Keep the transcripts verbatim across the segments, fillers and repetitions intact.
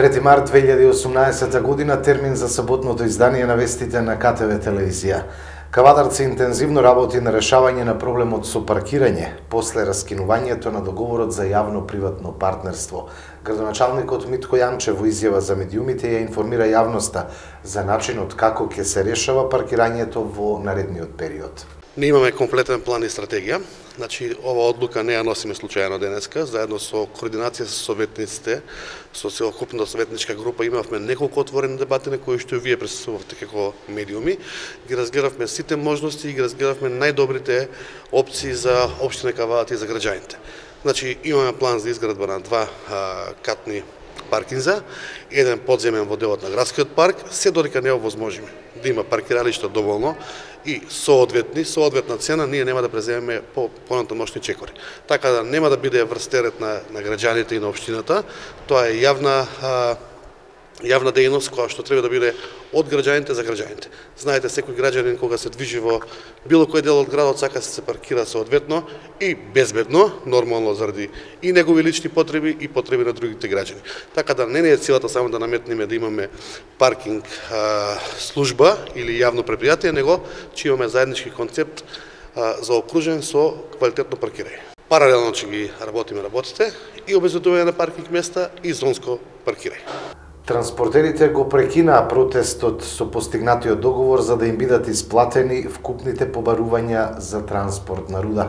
трети март две илјади и осумнаесета година, термин за саботното издание на вестите на Ка Те Ве телевизија. Кавадарци интензивно работи на решавање на проблемот со паркирање после раскинувањето на договорот за јавно-приватно партнерство. Градоначалникот Митко Јанчев во изјава за медиумите ја информира јавноста за начинот како ќе се решава паркирањето во наредниот период. Не имаме комплетен план и стратегија, значи ова одлука не ја носиме случајно денеска, заедно со координација со советниците, со целокупната советничка група имавме неколку отворени дебати на кои што вие присуствувавте како медиуми, ги разгледавме сите можности и ги разгледавме најдобрите опции за општина Кавадар и за граѓаните. Значи имаме план за изградба на два а, катни паркинза, еден подземен во делот на градскиот парк, се додека не е овозможиме да има паркиралишта доволно и соодветни, соодветна цена, ние нема да преземеме по понатамошни чекори. Така да нема да биде врстерет на, на граѓаните и на општината, тоа е јавна а, јавна дејност која што треба да биде од граѓаните за граѓаните. Знаете, секој граѓанин кога се движи во било кој дел од градот сака се паркира соодветно и безбедно, нормално заради и негови лични потреби и потреби на другите граѓани. Така да не е целата само да наметнеме да имаме паркинг а, служба или јавно предпријатие, него че имаме заеднички концепт а, заокружен со квалитетно паркирање. Паралелно че ги работиме работите и обезбедување на паркинг места и зонско паркирање. Транспортерите го прекинаа протестот со постигнатиот договор за да им бидат исплатени вкупните побарувања за транспорт на руда.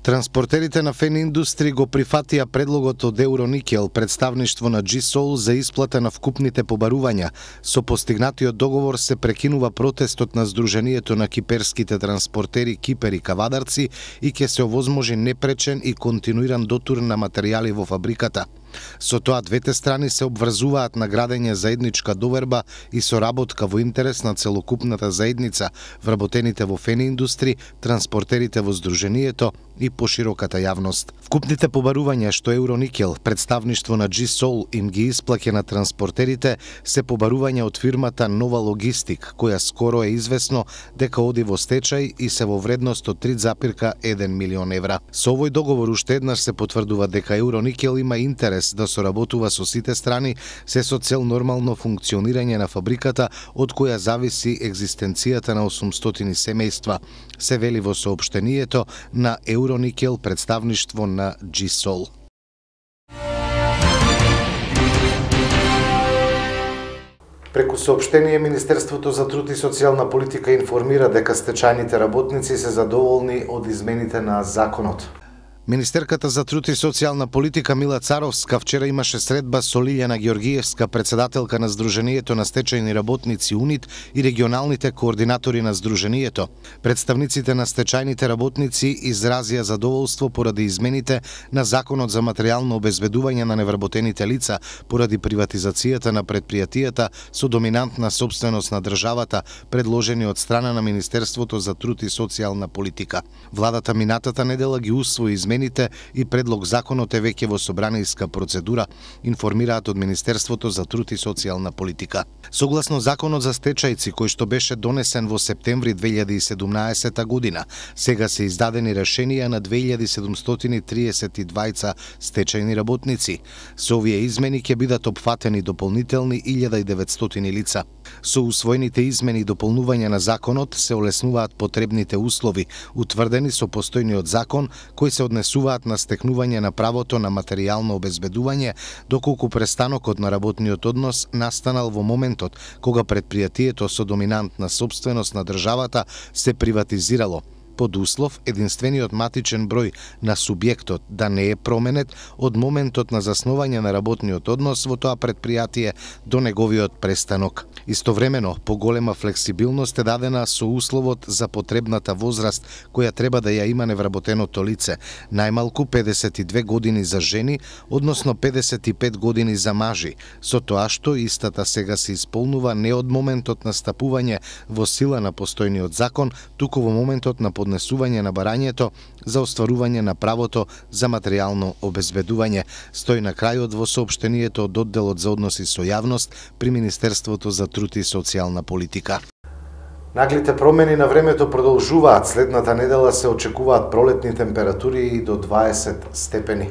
Транспортерите на Фен Индустри го прифатија предлогот од Евроникел, представништво на Джи Сол за исплата на вкупните побарувања. Со постигнатиот договор се прекинува протестот на Сдруженијето на киперските транспортери Кипер и Кавадарци и ќе се овозможи непречен и континуиран дотур на материјали во фабриката. Со тоа двете страни се обврзуваат на градење заедничка доверба и соработка во интерес на целокупната заедница, вработените во Фен Индустри, транспортерите во Сдруженијето и пошироката јавност. Вкупните побарувања што Евроникел, представништво на Джи Сол, им ги исплаќа на транспортерите се побарувања од фирмата Нова Логистик, која скоро е известно дека оди во стечај и се во вредност од три запирка еден милион евра. Со овој договор уште еднаш се потврдува дека Евроникел има интерес да соработува со сите страни, се со цел нормално функционирање на фабриката од која зависи екзистенцијата на осумстотини семејства, се вели во соопштението на Евроникел, представништво на Джи Сол. Преку соопштение, Министерството за труд и социјална политика информира дека стечајните работници се задоволни од измените на законот. Министерката за труд и социјална политика Мила Царовска вчера имаше средба со Лилјана Ѓоргиевска, председателка на Сдруженијето на стечајни работници УНИТ и регионалните координатори на Сдруженијето. Представниците на стечајните работници изразија задоволство поради измените на Законот за материјално обезбедување на невработените лица поради приватизацијата на предпријатијата со доминантна сопственост на државата, предложени од страна на Министерството за труд и социјална политика. Владата минатата недела ги усвои измените и предлог законот е веќе во собранијска процедура, информираат од Министерството за труд и социјална политика. Согласно законот за стечајци кој што беше донесен во септември две илјади и седумнаесета година, сега се издадени решенија на две илјади седумстотини триесет и двајца стечајни работници. Со овие измени ќе бидат опфатени дополнителни илјада и деветстотини лица. Со усвоените измени и дополнувања на законот се олеснуваат потребните услови, утврдени со постојниот закон, кои се однесуваат на стекнување на правото на материјално обезбедување, доколку престанокот на работниот однос настанал во моментот кога предпријатието со доминантна сопственост на државата се приватизирало, под услов единствениот матичен број на субјектот да не е променет од моментот на заснување на работниот однос во тоа предпријатие до неговиот престанок. Истовремено, поголема флексибилност е дадена со условот за потребната возраст која треба да ја има невработеното лице, најмалку педесет и две години за жени, односно педесет и пет години за мажи, со тоа што истата сега се исполнува не од моментот на стапување во сила на постојниот закон, туку во моментот на поднесување на барањето за остварување на правото за материјално обезбедување, стои на крајот во соопштението од одделот за односи со јавност при Министерството за труд и социјална политика. Наглите промени на времето продолжуваат. Следната недела се очекуваат пролетни температури и до дваесет степени.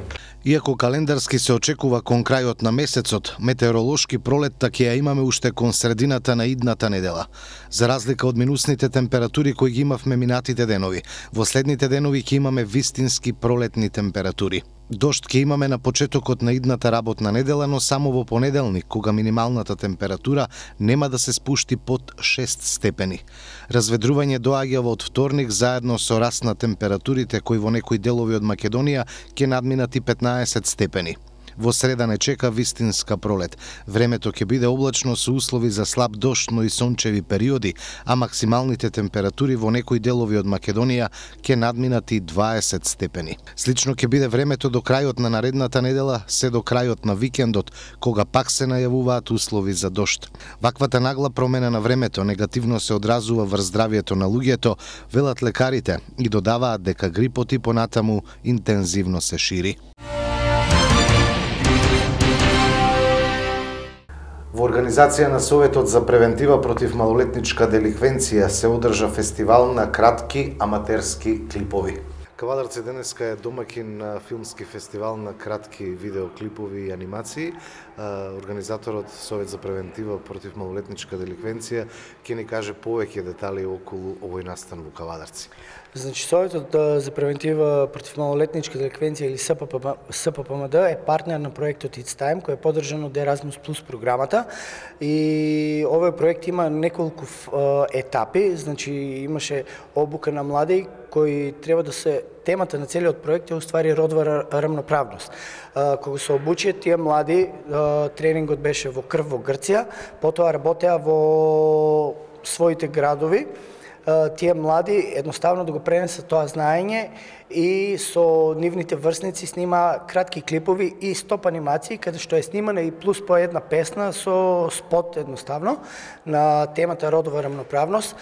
Иако календарски се очекува кон крајот на месецот, метеоролошки пролетта ќе ја имаме уште кон средината на идната недела. За разлика од минусните температури кои ги имавме минатите денови, во следните денови ќе имаме вистински пролетни температури. Дожд ќе имаме на почетокот на идната работна недела, но само во понеделник, кога минималната температура нема да се спушти под шест степени. Разведрување доаѓа од вторник заедно со раст на температурите кои во некои делови од Македонија ќе надминат и петнаесет степени. Во среда не чека вистинска пролет. Времето ќе биде облачно со услови за слаб дожд, но и сончеви периоди, а максималните температури во некои делови од Македонија ќе надминат и дваесет степени. Слично ќе биде времето до крајот на наредната недела, се до крајот на викендот, кога пак се најавуваат услови за дожд. Ваквата нагла промена на времето негативно се одразува врз здравјето на луѓето, велат лекарите, и додаваат дека грипот и понатаму интензивно се шири. Во организација на Советот за превентива против малолетничка деликвенција се одржа фестивал на кратки аматерски клипови. Кавадарци денеска е домакин на филмски фестивал на кратки видеоклипови и анимации. Организаторот Совет за превентива против малолетничка деликвенција ќе ни каже повеќе детали околу овој настан во Кавадарци. Значи, Советот за превентива против малолетничка деликвенција или С П П М Д е партнер на проектот It's Time, кој е поддржан од Erasmus Plus програмата. И овој проект има неколку етапи, значи имаше обука на млади кои треба да се темата на целиот проект е уствари родова рамноправност. Кога се обучија тие млади, тренингот беше во Крв во Грција, потоа работеа во своите градови. Тие млади едноставно да го пренесат тоа знаење и со нивните врсници снима кратки клипови и стоп анимации, каде што е снимана и плюс по една песна со спот едноставно на темата родова рамноправност.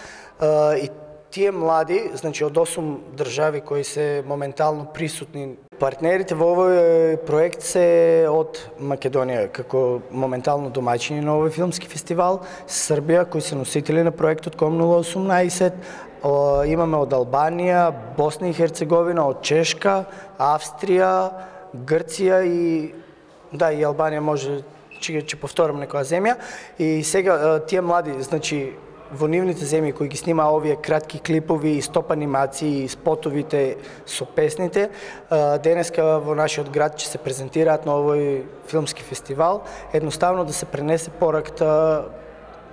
И тие млади, значи од осум држави кои се моментално присутни, партнерите во овој проект се од Македонија, како моментално домаќини на овој филмски фестивал, Србија, кои се носители на проектот ком нула осумнаесет, имаме од Албанија, Босна и Херцеговина, од Чешка, Австрија, Грција и да, и Албанија може ќе ќе повторам некоја земја. И сега тие млади, значи во нивните земји кои ги снима овие кратки клипови и стоп анимации и спотовите со песните, денеска во нашиот град ќе се презентираат на овој филмски фестивал, едноставно да се пренесе пораката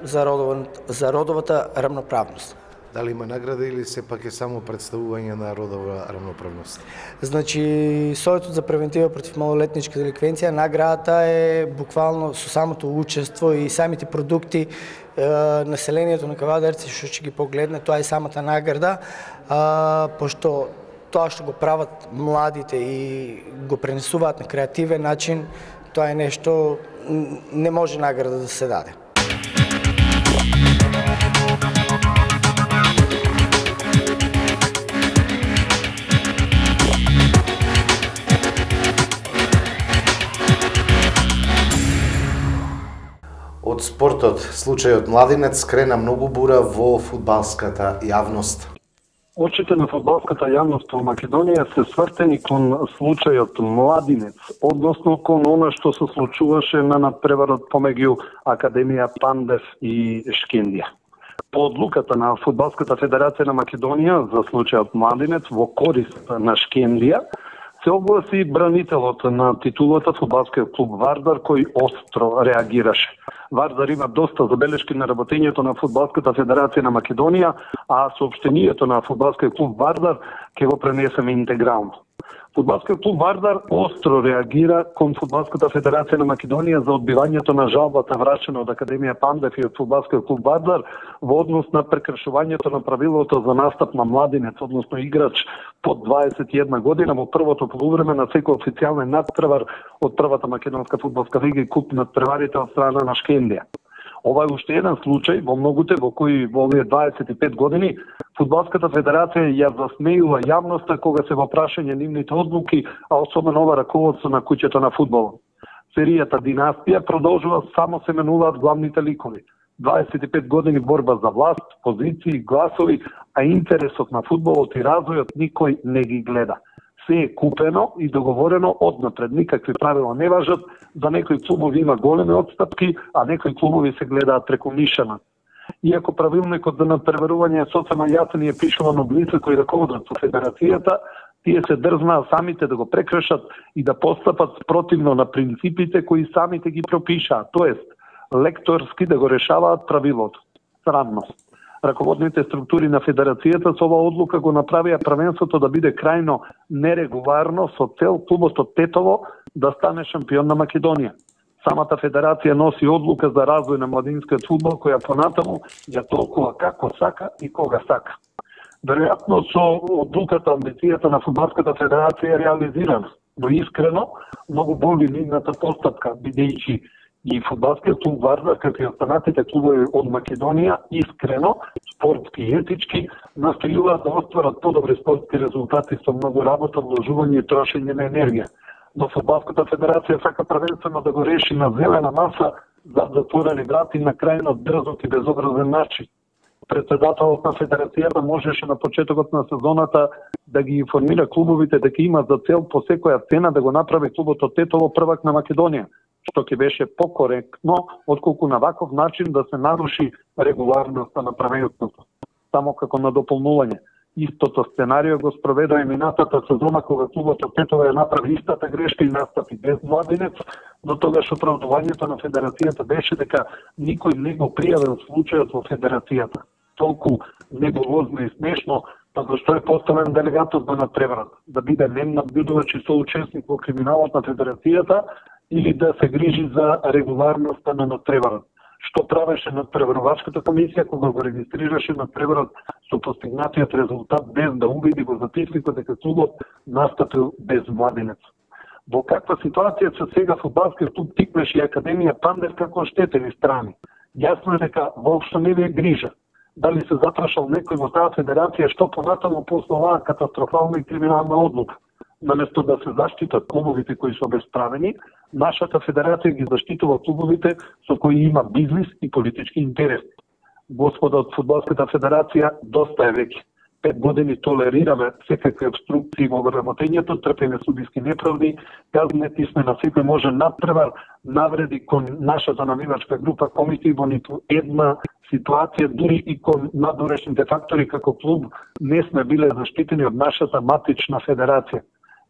за родова, за родовата рамноправност. Дали има награда или сепак е само представување на родова рамноправност? Значи, Советот за превентива против малолетничка деликвенција, наградата е буквално со самото учество и самите продукти, населението на Кавадарци што ќе ги погледне, тоа е самата награда, пошто тоа што го прават младите и го пренесуваат на креативен начин, тоа е нешто, не може награда да се даде. Од спортот, случајот Младинец крена многу бура во фудбалската јавност. Очите на фудбалската јавност во Македонија се свртени кон случајот Младинец, односно кон она што се случуваше на надпреварот помеѓу Академија Пандев и Шкендија. По одлуката на Фудбалската федерација на Македонија за случајот Младинец во корист на Шкендија, се огласи бранителот на титулата фудбалскиот клуб Вардар, кој остро реагираше. Вардар има доста забелешки на работењето на Фудбалската федерација на Македонија, а соопштението на Фудбалскиот клуб Вардар ќе го пренесеме интегрално. Фудбалскиот клуб Вардар остро реагира кон Фудбалската федерација на Македонија за одбивањето на жалбата врачена од Академија Пандев и од Фудбалскиот клуб Вардар во однос на прекршувањето на правилото за настап на младинец, односно играч под дваесет и една година во првото полувреме на секој официјален надпревар од првата македонска фудбалска лига и куп надпреварите од страна на Шкендија. Ова е уште еден случај во многуте во кои во овие дваесет и пет години Фудбалската федерација ја засмејува јавноста кога се во прашање нивните одлуки, а особено ова раководство на куќето на фудбалот. Серијата Династија продолжува, само се менуваат главните ликови. дваесет и пет години борба за власт, позиции, гласови, а интересот на фудбалот и развојот никој не ги гледа. се е купено и договорено однапред. Никакви правила не важат. За некои клубови има големи отстапки, а некои клубови се гледаат преку нишана. Иако правилникот за надпреварување е соцема јасен и е пишуван од лица кои раководат со федерацијата, тие се дрзнаа самите да го прекршат и да постапат спротивно на принципите кои самите ги пропишаат, тоест лекторски да го решаваат правилото. Срамно. Раководните структури на федерацијата со оваа одлука го направија првенството да биде крајно нерегуларно со цел клубот од Тетово да стане шампион на Македонија. Самата федерација носи одлука за развој на младинскиот фудбал, која понатаму ја толкува како сака и кога сака. Веројатно со одлуката, амбицијата на фудбалската федерација е реализирана, но искрено многу боли нивната постапка, бидејќи и фудбалскиот клуб Вардар, како и останатите клубови од Македонија, искрено, спортски и етички, настојуваат да остварат подобри спортски резултати со многу работа, вложување и трошење на енергија. Но фудбалската федерација сака првенствено да го реши на зелена маса зад затворени врати на крајно дрзок и безобразен начин. Председателот на федерацијата можеше на почетокот на сезоната да ги информира клубовите дека има за цел по секоја цена да го направи клубот од Тетово првак на Македонија, што ќе беше покоректно отколку на ваков начин да се наруши регуларноста на правителството. Само како на дополнување. Истото сценарио го спроведа и минатата сезона кога клубот од Тетово ја направи истата грешка и настапи без младинец, но тогаш оправдувањето на федерацијата беше дека никој не го пријавил случајот во федерацијата. Толку небулозно и смешно, па зашто е поставен делегатот на надпреварот, да биде нем набљудувач и соучесник во криминалот на федерацијата или да се грижи за регуларноста на надпреварот. Што правеше надпреварувачката комисија кога го регистрираше надпреварот со постигнатиот резултат без да убеди го записникот дека клубот настапил без младенец. Во каква ситуација се сега фудбалскиот клуб Тиквеш и Академија Пандев како оштетени страни? Јасно е дека воопшто не ви е грижа. Дали се запрашал некој во таа федерација што понатаму после оваа катастрофална и криминална одлука? Наместо да се заштитат клубовите кои се обесправени, нашата федерација ги заштитува клубовите со кои има бизнис и политички интерес. Господа од фудбалската федерација, доста е веќе. Пет години толерираме секакви обструкции во вработењето, трпеме судиски неправди, казнети сме на секој може надпревар, навреди кон нашата навивачка група комити во ниту една ситуација, дури и кон надорешните фактори како клуб, не сме биле заштитени од нашата матична федерација.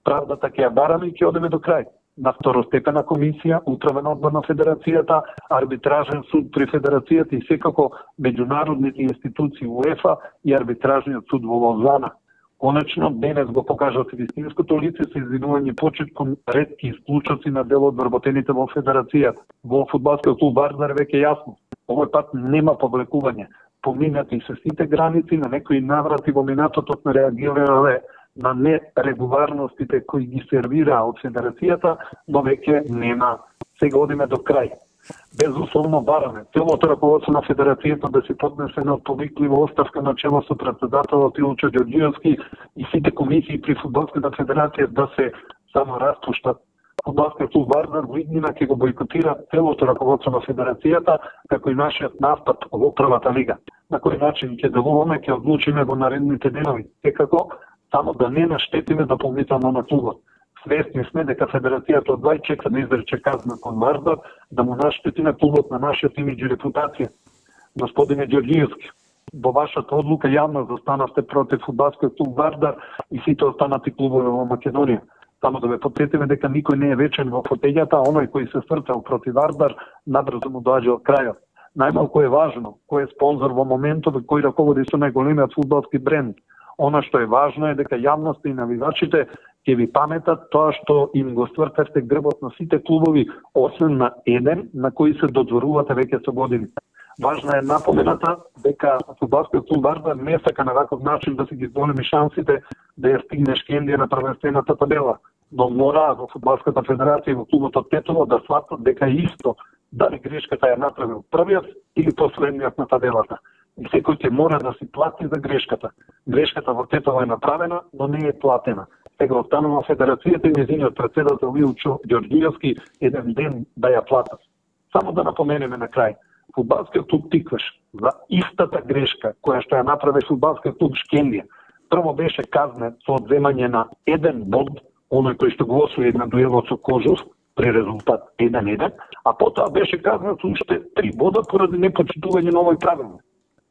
Правдата ќе ја бараме и ќе одеме до крај. На второстепена комисија, управен одбор на федерацијата, арбитражен суд при федерацијата и секако меѓународните институции УЕФА и арбитражниот суд во Лозана. Конечно, денес го покажат вистинското лице со извинување почит кон ретки случаи на дел од вработените во федерацијата. Во фудбалскиот клуб Вардар веќе јасно. Овој пат нема повлекување. Поминати се сите граници, на некои наврати во минатото сме реагирале на нерегуларностите кои ги сервираа од федерацијата, но веќе нема. Сега одиме до крај. Безусловно бараме целото раководство на федерацијата да се поднесе на повиклива оставка на чело со председателот Илчо Ѓорѓиевски и сите комисии при фудбалската федерација да се само распуштат. Фудбалскиот клуб Вардар во иднина ќе го бойкотира целото раководство на федерацијата, како и нашиот настап во првата лига. На кој начин ќе делуваме, ќе одлучиме во наредните денови. Секако, само да не наштетиме дополнително на клубот. Свесни сме дека федерацијата од Вај чека да изрече казна кон Вардар, да му наштети на клубот на нашиот имидж и репутација. Господине Ѓорѓиевски, во вашата одлука јавно застанавте против фудбалскиот клуб Вардар и сите останати клубови во Македонија. Само да ве потсетиме дека никој не е вечен во фотељата, а оној кој се стрцал против Вардар, набрзо му доаѓа од крајот. Најмалку е важно кој е спонзор во моментот кој раководи со најголемиот фудбалски бренд. Она што е важно е дека јавноста и навивачите ќе ви паметат тоа што им го ствртевте грбот на сите клубови, освен на еден на кој се додворувате веќе со години. Важна е напомената дека фудбалскиот клуб Вардар не сака на ваков начин да се ги зголеми шансите да ја стигне Шкендија на првенствената табела, но мора во фудбалската федерација и во клубот од Тетово да сватат дека исто дали грешката ја направил првиот или последниот на табелата. И секој ќе мора да си плати за грешката. Грешката во Тетово е направена, но не е платена. Сега останува федерацијата и нејзиниот председател Илчо Ѓорѓиевски еден ден да ја платат. Само да напоменеме на крај. Фудбалскиот клуб Тиквеш за истата грешка која што ја направи фудбалскиот клуб Шкендија, Прво беше казнет со одземање на еден бод, оној кој што го освои на дуелот со Кожов, при резултат еден еден, а потоа беше казнет со уште три бода поради непочитување на овој правилник.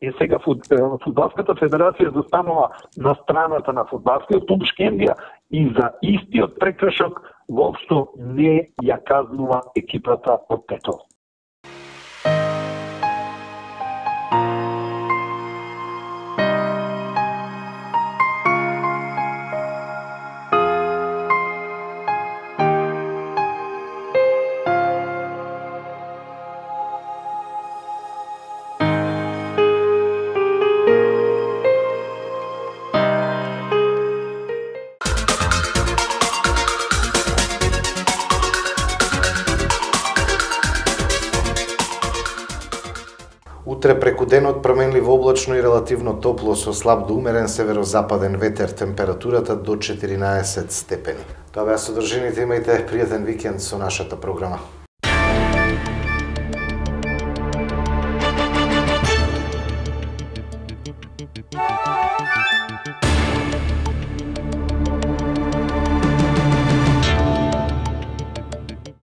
И сега Фудбалската федерација застанува на страната на фудбалскиот клуб Шкендија и за истиот прекршок воопшто не ја казнува екипата од Тетово. Утре преку денот променливо облачно и релативно топло со слаб до умерен северозападен ветер, температурата до четиринаесет степени. Тоа беа содржините, имајте пријатен викенд со нашата програма. Thank you.